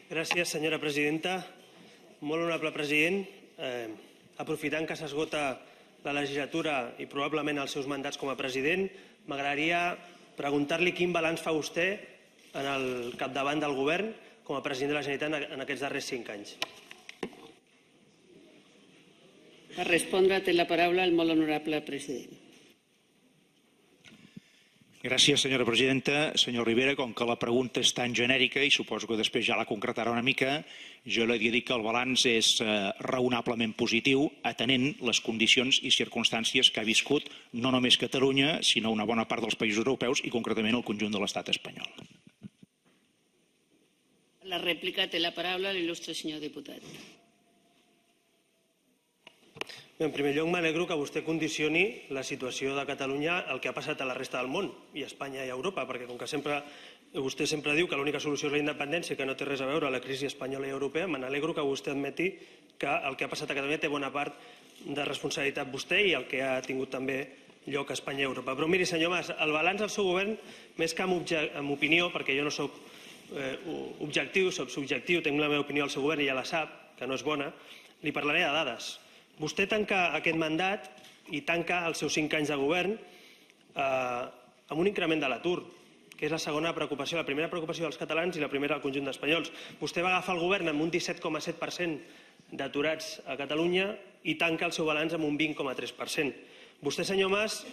Gràcies, senyora presidenta. Molt honorable president, aprofitant que s'esgota la legislatura i probablement els seus mandats com a president, m'agradaria preguntar-li quin balanç fa vostè en el capdavant del govern com a president de la Generalitat en aquests darrers 5 anys. Per respondre té la paraula el molt honorable president. Gràcies, senyora presidenta. Senyor Rivera, com que la pregunta és tan genèrica i suposo que després ja la concretarà una mica, jo li he de dir que el balanç és raonablement positiu, atenent les condicions i circumstàncies que ha viscut no només Catalunya, sinó una bona part dels països europeus i concretament el conjunt de l'estat espanyol. La rèplica té la paraula l'il·lustre senyor diputat. En primer lloc, m'alegro que vostè condicioni la situació de Catalunya al que ha passat a la resta del món, i a Espanya i a Europa, perquè com que vostè sempre diu que l'única solució és la independència i que no té res a veure la crisi espanyola i europea, me n'alegro que vostè admeti que el que ha passat a Catalunya té bona part de responsabilitat vostè i el que ha tingut també lloc a Espanya i Europa. Però miri, senyor Mas, el balanç del seu govern, més que amb opinió, perquè jo no soc objectiu, soc subjectiu, tinc la meva opinió al seu govern i ja la sap, que no és bona, li parlaré de dades. Vostè tanca aquest mandat i tanca els seus 5 anys de govern amb un increment de l'atur, que és la segona preocupació, la primera preocupació dels catalans i la primera del conjunt d'espanyols. Vostè va agafar el govern amb un 17,7% d'aturats a Catalunya i tanca el seu balanç amb un 20,3%. Vostè, senyor Mas,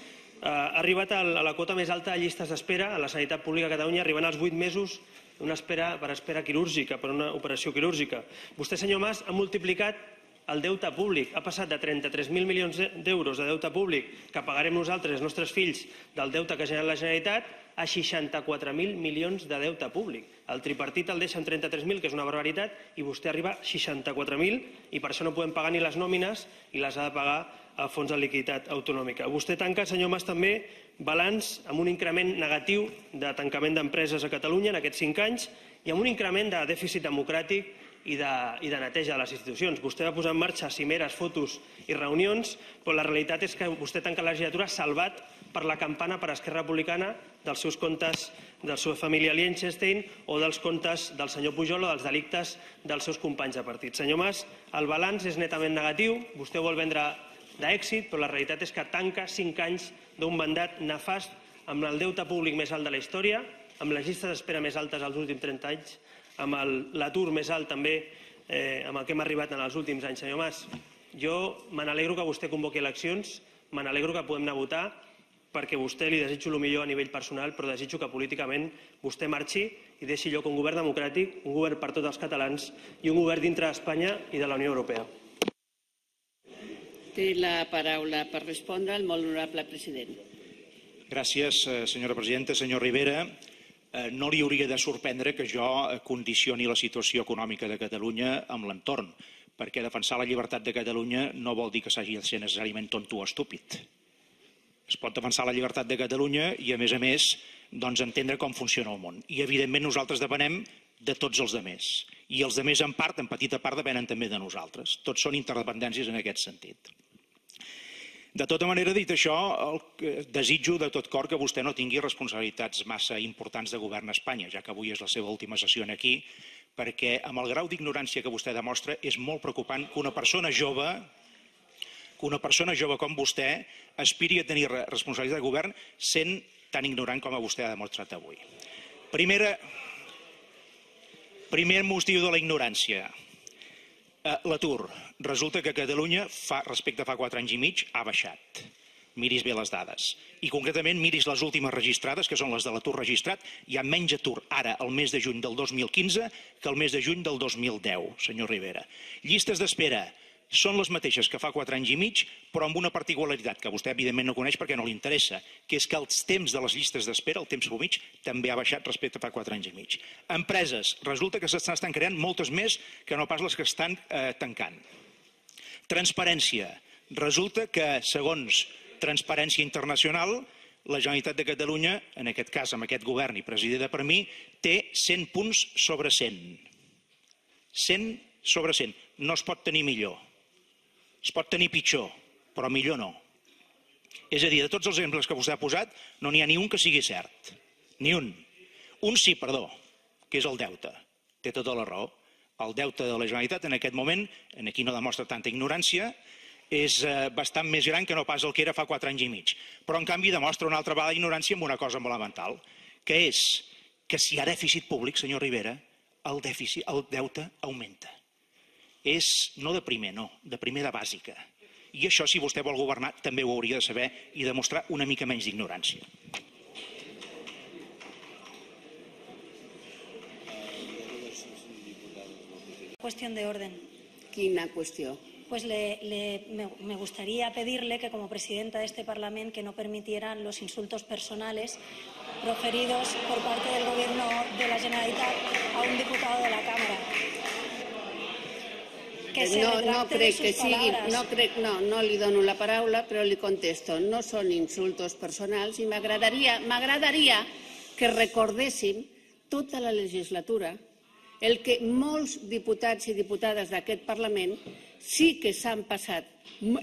ha arribat a la quota més alta de llistes d'espera a la sanitat pública a Catalunya, arribant als 8 mesos per espera quirúrgica, per una operació quirúrgica. Vostè, senyor Mas, ha multiplicat el deute públic, ha passat de 33.000 milions d'euros de deute públic que pagarem nosaltres, els nostres fills, del deute que ha generat la Generalitat, a 64.000 milions de deute públic. El tripartit el deixa en 33.000, que és una barbaritat, i vostè arriba a 64.000 i per això no podem pagar ni les nòmines i les ha de pagar el Fons de Liquiditat Autonòmica. Vostè tanca, senyor Mas, també balanç amb un increment negatiu de tancament d'empreses a Catalunya en aquests 5 anys i amb un increment de dèficit democràtic i de neteja de les institucions. Vostè va posar en marxa cimeres, fotos i reunions, però la realitat és que vostè tanca la legislatura salvat per la campana per Esquerra Republicana dels seus comptes de la seva família Liechtenstein o dels comptes del senyor Pujol o dels delictes dels seus companys de partit. Senyor Mas, el balanç és netament negatiu, vostè ho vol vendre d'èxit, però la realitat és que tanca 5 anys d'un mandat nefast amb el deute públic més alt de la història, amb les llistes d'espera més altes als últims 30 anys, amb l'atur més alt també amb el que hem arribat en els últims anys. Senyor Mas, jo me n'alegro que vostè convoqui eleccions, me n'alegro que podem anar a votar, perquè a vostè li desitjo el millor a nivell personal, però desitjo que políticament vostè marxi i deixi lloc a un govern democràtic, un govern per tots els catalans i un govern dintre d'Espanya i de la Unió Europea. Té la paraula per respondre el molt honorable president. Gràcies, senyora presidenta. Senyor Rivera, no li hauria de sorprendre que jo condicioni la situació econòmica de Catalunya amb l'entorn, perquè defensar la llibertat de Catalunya no vol dir que s'hagi de ser necessàriament tonto o estúpid. Es pot defensar la llibertat de Catalunya i, a més, entendre com funciona el món. I, evidentment, nosaltres depenem de tots els altres. I els altres, en part, en petita part, depenen també de nosaltres. Tots són interdependències en aquest sentit. De tota manera, dit això, desitjo de tot cor que vostè no tingui responsabilitats massa importants de govern a Espanya, ja que avui és la seva última sessió aquí, perquè amb el grau d'ignorància que vostè demostra és molt preocupant que una persona jove com vostè aspiri a tenir responsabilitat de govern sent tan ignorant com vostè ha demostrat avui. Primer motiu de la ignorància. L'atur. Resulta que a Catalunya, respecte a fa 4 anys i mig, ha baixat. Miris bé les dades. I concretament miris les últimes registrades, que són les de l'atur registrat. Hi ha menys atur ara, el mes de juny del 2015, que el mes de juny del 2010, senyor Rivera. Llistes d'espera són les mateixes que fa 4 anys i mig, però amb una particularitat que vostè evidentment no coneix perquè no li interessa, que és que els temps de les llistes d'espera, el temps mitjà, també ha baixat respecte a fa 4 anys i mig. Empreses, resulta que s'estan creant moltes més que no pas les que estan tancant. Transparència, resulta que segons Transparència Internacional, la Generalitat de Catalunya, en aquest cas amb aquest govern i presidida per mi, té 100 punts sobre 100. 100 sobre 100. No es pot tenir millor. Es pot tenir pitjor, però millor no. És a dir, de tots els exemples que vostè ha posat, no n'hi ha ni un que sigui cert. Ni un. Un sí, perdó, que és el deute. Té tota la raó. El deute de la Generalitat en aquest moment, aquí no demostra tanta ignorància, és bastant més gran que no pas el que era fa 4 anys i mig. Però, en canvi, demostra una altra vegada ignorància amb una cosa molt elemental, que és que si hi ha dèficit públic, senyor Rivera, el deute augmenta. És no de primer, no, de primera bàsica. I això, si vostè vol governar, també ho hauria de saber i demostrar una mica menys d'ignorància. Cuestión de orden. Quina qüestió? Pues me gustaría pedirle que, como presidenta de este Parlamento, que no permitieran los insultos personales proferidos por parte del Gobierno de la Generalitat a un diputado de la Cámara. Que se retracte de sus palabras. No li dono la paraula, però li contesto. No són insultos personals i m'agradaria que recordéssim tota la legislatura el que molts diputats i diputades d'aquest Parlament sí que s'han passat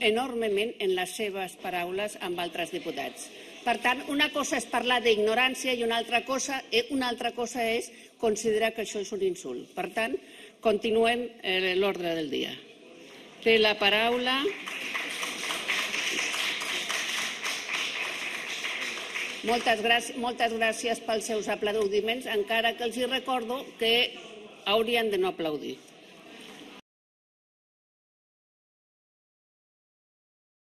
enormement en les seves paraules amb altres diputats. Per tant, una cosa és parlar d'ignorància i una altra cosa és considerar que això és un insult. Per tant, continuem l'ordre del dia. Té la paraula moltes gràcies pels seus aplaudiments, encara que els recordo que haurien de no aplaudir.